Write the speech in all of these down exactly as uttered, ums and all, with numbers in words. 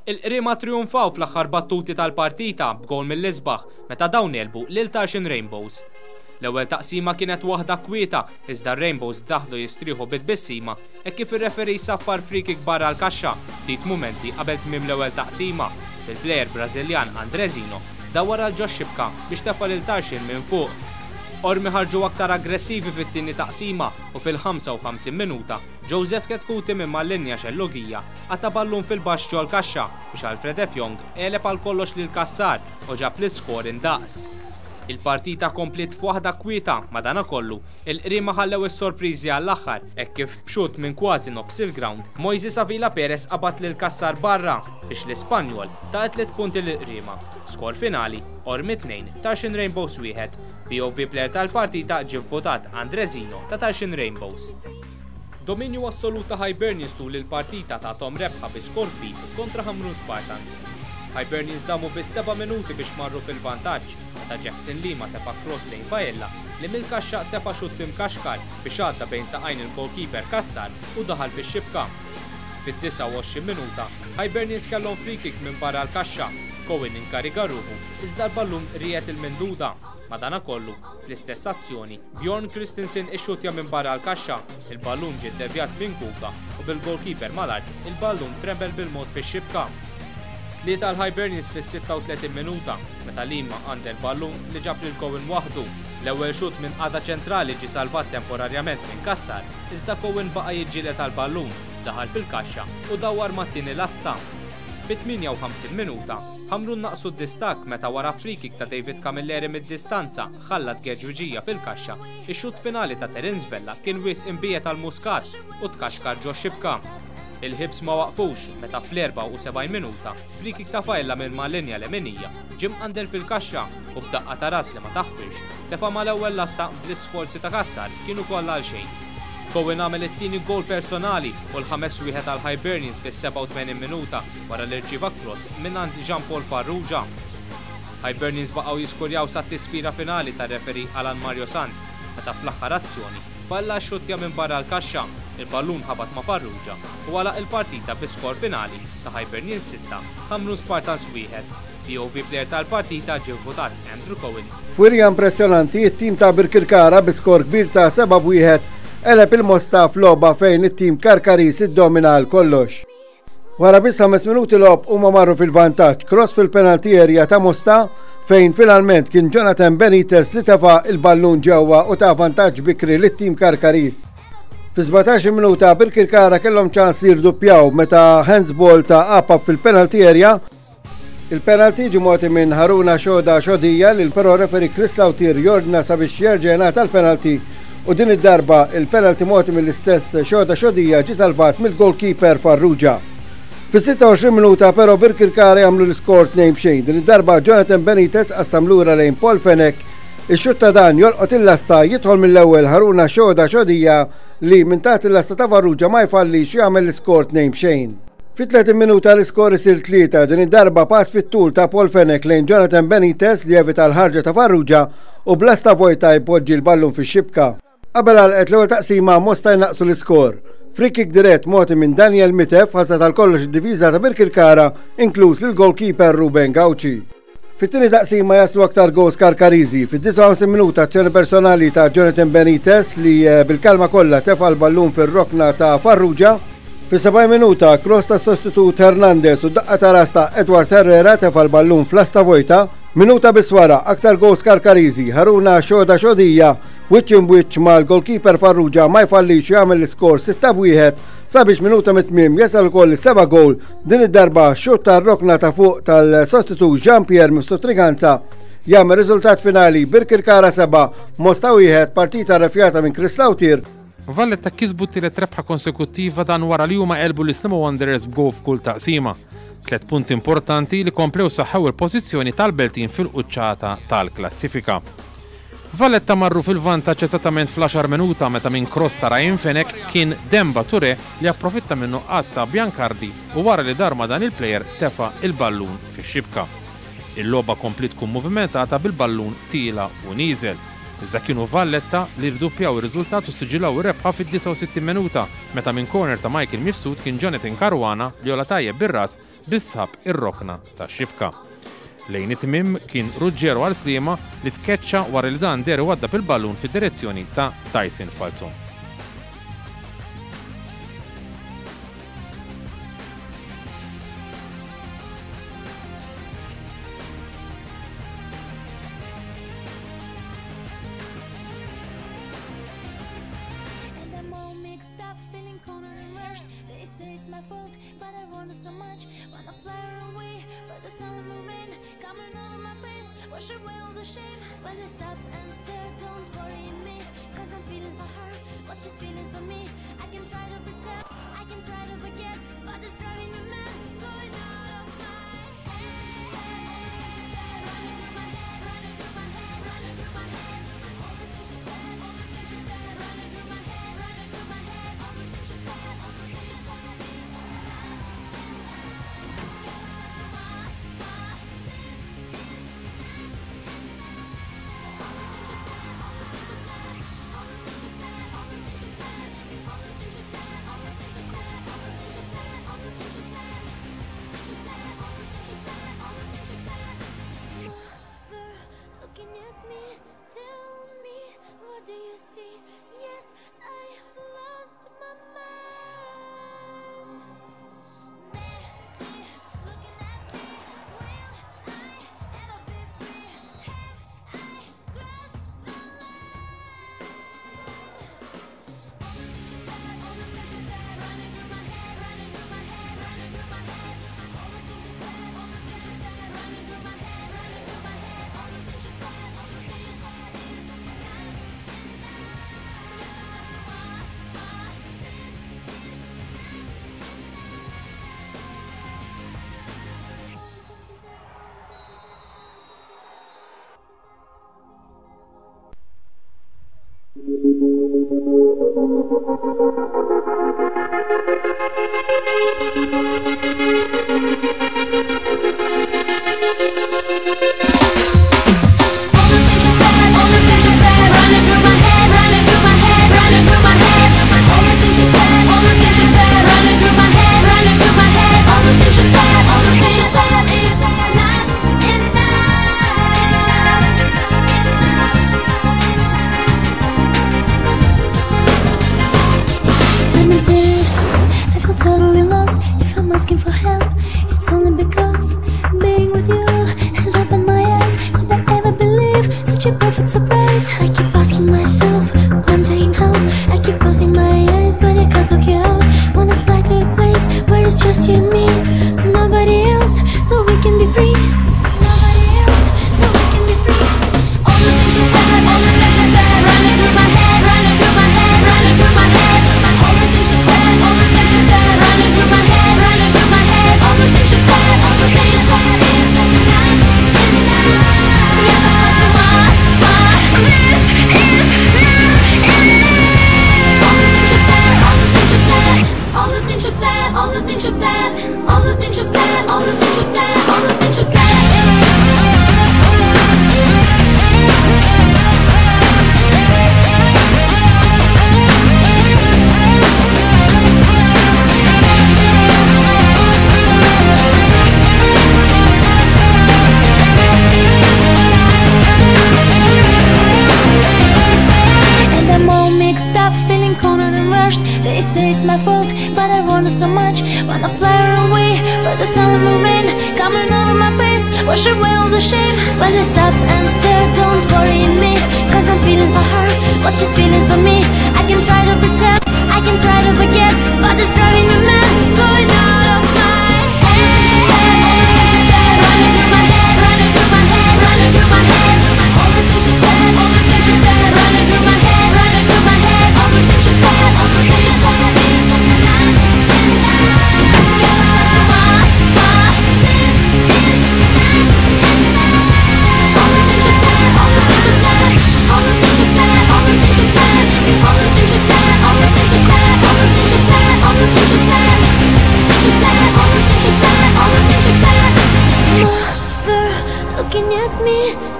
Il-Qriema trionfaw fl-aħħar battuti tal-partita b'gol mill-isbaħ meta dawn għelbu lil Tarxien Rainbows. L-ewwel taqsima kienet waħda kwieta, iżda Rainbows daħlu jistrieħu bit-tbissima e kif ir-referee saffar free kick barra l-kaxxa ftit mumenti qabel tmiem l-ewwel taqsima. Il-plejer Brażiljan Andrezino dawwar għal ġo xibka biex tefa' lil Tarxien minn fuq. Qormi ħarġu aktar aggressivi fit-tieni taqsima u fil-ħamsa u ħamsin minuta Joseph Chetcuti minn mal-linja xellugija qata' ballun fil-baxx ġol-kaxxa biex Alfred Efjong għeleb għal kollox lil Kassar u ġab l-iskor indaqs. Il-partita kompliet f'waħda kwieta, madanakollu, il-Qriema ħallew is-sorpriżi għall-aħħar hekk kif b'xut minn kważi nofs il-ground, Moises Avila Perez qabad lil Kassar barra biex l-Ispanjol ta tliet punti lil Qriema. Skor finali, Qormi tnejn, Tarxien Rainbows wieħed. B O V player tal-partita ġie votat Andrezino ta' Tarxien Rainbows. Dominju assolut ta' Hibernians tul il-partita tahom rebħa bi skor kbir kontra Ħamrun Spartans. Hibernians damu bis seba' minuti biex marru fil-vantaġġ meta Jackson Lima tefa' cross lejn Faella li mill-kaxxa tefa' xutt imkaxkar biex għadda bejn saqajn il-goalkeeper Kassar u daħal fix-xibka. Fid-disgħa u għoxrin minuta, Hibernians kellhom free kick minn barra l-kaxxa. Cohen inkariga ruħu iżda l-ballun riegħed il-mimduda. Madanakollu, fl-istess azzjoni, Bjorn Christensen ixxutja minn barra l-kaxxa, il-ballun ġie devjat minn Kuka u bil-goalkeeper mal-art il-ballun trembel bil-mod fix-xibka. Tlieta l-Hibernians fis-sitta u tletin minuta, meta Lima għand il-ballun li ġab lil Cohen waħdu. L-ewwel xut minn qagħda ċentrali ġi salvat temporarjament minn Kassar, iżda Cohen baqa' jiġġieled għall-ballun, daħal fil-kaxxa u dawwar mat-tieni lasta. Fit-tmienja u ħamsin minuta, Ħamrun naqsu d-distak meta wara free kick ta' David Camilleri mid-distanza ħallat geġuġija fil-kaxxa. Ix-xut finali ta' Terence Vella kien wisq imbiegħed għal Muscat u tkaxkar ġo xibka. Il-Hibs ma waqfux meta fl-erbgħa u sebgħin minuta free kick ta' Faella minn mal-linja leminija ġie mqandel fil-kaxxa u b'daqqa ta' ras li ma taħfirx tefa' mal-ewwel lasta bl-isforzi ta' Kassar kienu kollha għal xejn. Cohen għamel it-tieni gol personali u l-ħames wieħed għal Hibernians fis-sebgħa u tmenin minuta wara li rċieva cross minn għand Jean Paul Farrugia. Hibernians baqgħu jiskurjaw sa tisfira finali tar-referee Alan Mario Sant meta fl-aħħar azzjoni Faella xutja minn barra l-kaxxa, il-ballun ħabat ma' Farrugia u għalaq il-partita bi skor finali ta' Hibernians sitta, Ħamrun Spartans wieħed. B O V player tal-partita ġie votat Andrew Cohen. F'wirja impressjonanti, it-tim ta' Birkirkara bi skor kbir ta' seba' wieħed għeleb il-Mosta f'logħba fejn it-tim Karkaris iddomina għal kollox. Wara biss ħames minuti logħob huma marru fil-vantaġġ, cross fil-penalty area ta' Mosta fejn finalment kien Jonathan Benitez li tefa il-ballun ġewwa u ta' vantaġġ bikri lit-tim Karkaris. Fi sbatax-il minuta Birkirkara kellhom ċans li jirduppjaw meta handsball ta' Apap fil-penalty area. Il-penalty ġie mogħti minn Haruna Xoda Xodija li però referee Chris Lautier jordna sabiex jerġa' jingħata l-penalty u din id-darba il-penalty mogħti mill-istess Xoda Xodija ġie salvat mill-goalkeeper Farrugia. Fis-sitta u għoxrin minuta però Birkirkara jagħmlu l-iskor tnejn b'xejn. Din id-darba Jonathan Benitez qassam lura lejn Paul Fenech. Ix-xut ta' dan jolqot il-lasta, jidħol mill-ewwel Haruna Xoda Xodija li minn taħt il-lasta ta' Farrugia ma jfallix, jagħmel l-iskor tnejn b'xejn. Fit-tletin minuta l-iskor isir tlieta, din id-darba pass fit-tul ta' Paul Fenech lejn Jonathan Benitez li evita l-ħarġa ta' Farrugia u b'lasta vojta jpoġġi l-ballun fix-xibka. Qabel għalqet l-ewwel taqsima, Mosta jnaqsu l-iskor. Free kick dirett mogħti minn Daniel Mitef ħasad għal kollox id-difiża ta' Birkirkara, inkluż il-goalkeeper Ruben Gauci. Fit-tieni taqsima jaslu aktar goals Karkarizi. Fid-disgħa u ħamsin minuta azzjoni personali ta' Jonathan Benitez li eh, bil-kalma kollha tefa' l-ballun fir-rokna ta' Farrugia. Fis-sebgħin minuta cross ta' sostitut Hernandez u daqqa ta' ras ta' Edward Herrera tefa' l-ballun fl-lasta vojta. Minuta biss wara aktar goals Karkarizi, Haruna Xoda Xodija wiċċ imb'wiċċ mal-goalkeeper Farrugia ma jfallix, jagħmel l-iskor sitta wieħed sabiex minuta mit-tmiem jasal ukoll is-seba' goal, din id-darba xut tar-rokna ta' fuq tal-sostitut Jean-Pierre Mifsud Triganza jagħmel riżultat finali Birkirkara seba', Mosta wieħed, partita refjata minn Chris Lautier. Valletta kisbu t-tielet rebħa konsekuttiva, dan wara li huma għelbu l-Sliema Wanderers b'gowl f'kull taqsima. Tlet punti importanti li komplew saħħew il-pożizzjoni tal-Beltin fil-quċċata tal-klassifika. Valletta marru fil-vantaġġ eżattament fl-għaxar minuta meta minn cross ta' Ryan Fenech kien Demba Ture li approfitta minn nuqqas ta' Biancardi u wara li dar ma' dan il-plejer tefa' il-ballun fix-xibka. Il-logħba kompli tkun movimentata bil-ballun tiela' u nieżel. Iżda kienu Valletta li rduppjaw ir-riżultat u siġilaw ir-rebħa fid-disgħa u sittin minuta meta minn corner ta' Michael Mifsud kien Jonathan Caruana li għolla tajjeb bir-ras. li sab ir-rokna tax-xibka. Lejn it-tmiem kien Ruggiero għal Sliema li tkeċċa wara li dan deher għadda bil-ballun fid-direzzjoni ta' Tyson Falzon.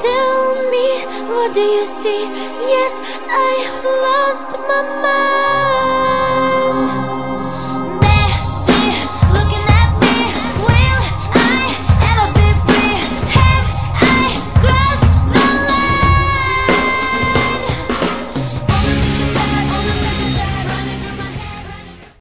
Tell me, what do you see? Yes, I lost my mind.